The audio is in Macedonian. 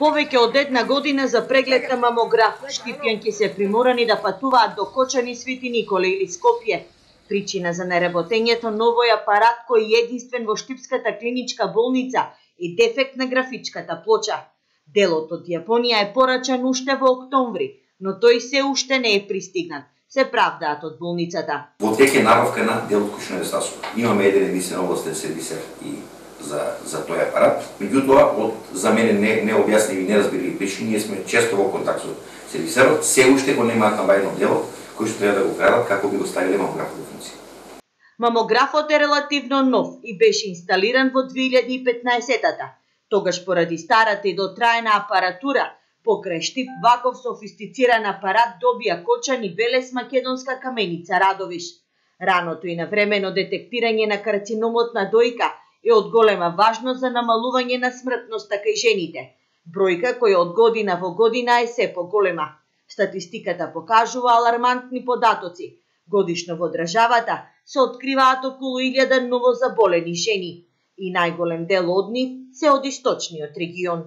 Повеќе од една година за преглед на мамограф, штипјанки се приморани да патуваат до Кочани, Свети Николе или Скопје. Причина за неработењето новој апарат кој е единствен во Штипската клиничка болница е дефект на графичката плоча. Делот од Јапонија е порачан уште во октомври, но тој се уште не е пристигнат, се правдаат од болницата. Во тек е набавка на делот кој што недостасува. Имаме еден единствен областен сервисер и за тој апарат. Меѓутоа, за мене не објасними и неразбирливи причини, ние сме често во контакт со сервисерот, се уште го немаат набавено делот кој што треба да го крадат како би го ставиле мамографот во функција. Мамографот е релативно нов и беше инсталиран во 2015-та. Тогаш поради старата и дотраена апаратура, покрај Штип ваков софистициран апарат добија Кочани, Велес, Македонска Каменица, Радовиш. Раното и навремено детектирање на карциномот на дојка е од голема важност за намалување на смртноста кај жените. Бројка која од година во година е се поголема. Статистиката покажува алармантни податоци. Годишно во државата се откриваат околу 1000 новозаболени жени и најголем дел од нив се од источниот регион.